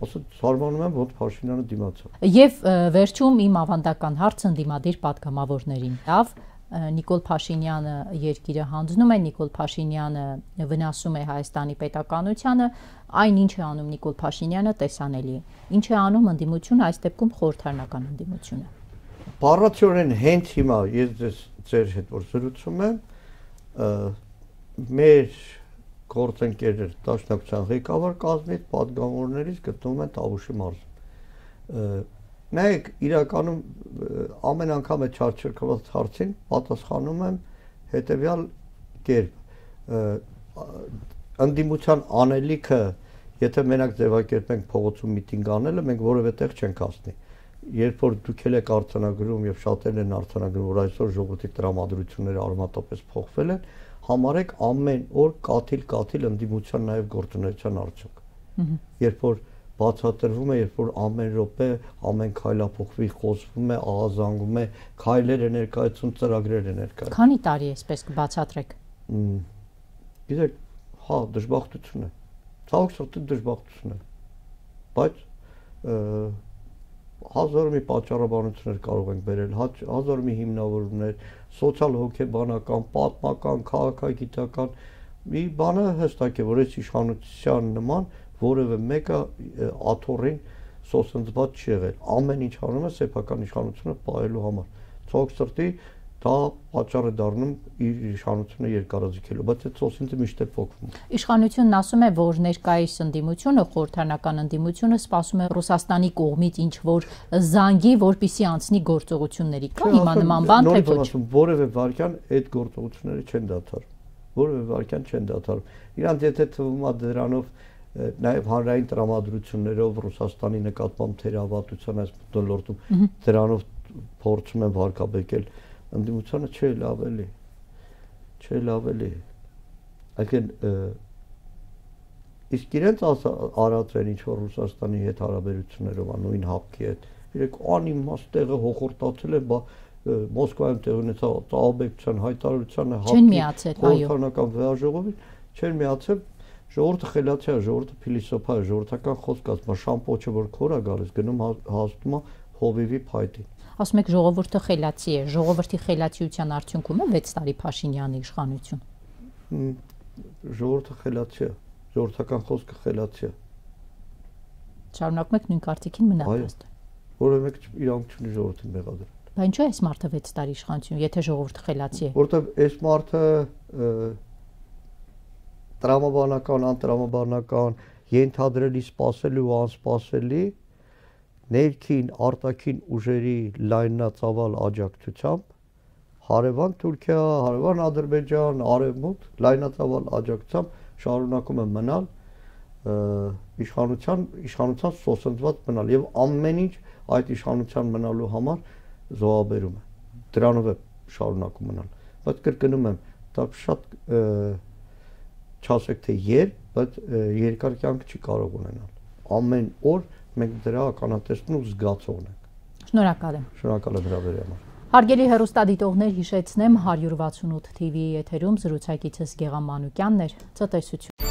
ասում զարմանում եմ, ոնց Փաշինյանը դիմացավ։ Եվ վերջում իմ ավանդական հարցը ընդդիմադիր պատգամավորներին։ Լավ, Նիկոլ Փաշինյանը երկիրը հանձնում է, Նիկոլ Փաշինյանը վնասում է Հայաստանի պետականությանը, այն ինչ է անում Նիկոլ Փաշինյանը տեսանելի է։ Ինչ է անում ընդդիմությունը, այս դեպքում խորհրդարանական ընդդիմությունը։ Բառացիորեն հենց հիմա ես ձեզ ձեր հետ որ զրուցում եմ, մեր գործընկերներ դաշնակցության ղեկավար կազմից պատգամավորներից գտնվում են Տավուշի մարզում։ Նայեք, իրականում ամեն անգամ է չարչրկված հարցին պատասխանում եմ հետևյալ կերպ։ Ընդդիմության անելիքը, եթե մենակ ձևակերպենք փողոցում միտինգ անելը, մենք որևէ տեղ չենք հասնի։ Երբ որ դուք եք արձանագրում եւ շատերն են արձանագրում, որ այսօր ժողովրդի տրամադրությունները արմատապես փոխվել են, համարեք ամեն օր կաթիլ-կաթիլ ընդդիմության նաեւ գործունեության արդյունք։ Երբ որ բացատրվում է, երբ որ ամեն րոպե, ամեն քայլափոխվի, խոսվում է, ահազանգում է, քայլեր է ներկայացում, ծրագրեր է ներկայացում։ Քանի տարի է այսպես կբացատրեք։ Գիտեք, հա, դժբախտություն է։ Ցավոք սրտի դժբախտություն է։ Բայց հազար մի պատճառաբանություններ կարող ենք բերել, հազար մի հիմնավորումներ, սոցիալ հոգեբանական, պատմական, քաղաքագիտական, մի բանը հստակ է, որ այս իշխանության նման որևէ մեկը աթոռին սոսնձված չի եղել։ Ամեն ինչ անում է սեփական իշխանությունը պահելու համար։ Ցավոք սրտի դա պատճառ է դառնում իր իշխանությունը երկարաձգելու, բայց այդ սոսինձը միշտ է փոխվում։ Իշխանությունն ասում է, որ ներկայիս ընդդիմությունը, խորհրդանական ընդդիմությունը սպասում է Ռուսաստանի կողմից ինչ-որ զանգի, որպիսի անցնի գործողությունների։ Կա հիմա նման բան, թե ոչ։ Որևէ վարքյան այդ գործողությունները չեն դադարում։ Որևէ վարքյան չեն դադարում։ Իրանց եթե թվում է դրանով նաև հանրային տրամադրություններով Ռուսաստանի նկատմամբ թերավատության այս մթնոլորտում դրանով փորձում են վարկաբեկել ընդդիմությանը չէ լավ էլի չէ լավ էլի այսինքն իսկ իրենց արած են ինչ որ Ռուսաստանի հետ հարաբերություններով նույն հապկի հետ իրենք անիմաստ տեղը հոխորտացել են Մոսկվայում տեղ ունեցավ ծաղաբեկության հայտարարությանը հապկի խորհրդանական վեաժողովին չեն միացել ժողովուրդը խելացի է, ժողովուրդը փիլիսոփա է, ժողովրդական խոսք ասում, շամպոչը որ քոր է գալիս, գնում հասնում է հովիվի փայտին։ Ասում եք ժողովուրդը խելացի է, ժողովրդի խելացիության արդյունքում է վեց տարի Փաշինյանի իշխանություն։ Ժողովուրդը խելացի է, ժողովրդական խոսքը խելացի է։ Շարունակում եք նույն կարծիքին մնալ։ Որևէ մեկ իրանք չունի ժողովրդին մեղադրել։ Բայց ինչու է այս մարդը վեց տարի իշխանություն, եթե ժողովուրդը խելացի է։ Որտեվ այս մարդը տրամաբանական, անտրամաբանական, ենթադրելի, սпасելի ու անսպասելի ներքին, արտաքին ուժերի լայնածավալ աջակցությամբ հարևան Թուրքիա, հարևան Ադրբեջան, արևմուտք լայնածավալ աջակցությամբ շարունակում է մնալ իշխանության, իշխանության սոսնձված մնալ եւ ամեն ինչ այդ իշխանության մնալու համար զոհաբերում է։ Դրանով է շարունակում մնալ։ Բայց կրկնում եմ, դա շատ չասեք թե երբ, բայց երկար կյանք չի կարող ունենալ։ Ամեն օր մենք դրա ականատեսն ու զգացողն ենք։ Շնորհակալ եմ։ Շնորհակալ եմ հրավերի համար։ Հարգելի հեռուստադիտողներ, հիշեցնեմ հարյուր վաթսունութ թիվի եթերում զրուցակիցս Գեղամ Մանուկյանն էր, ցտեսություն։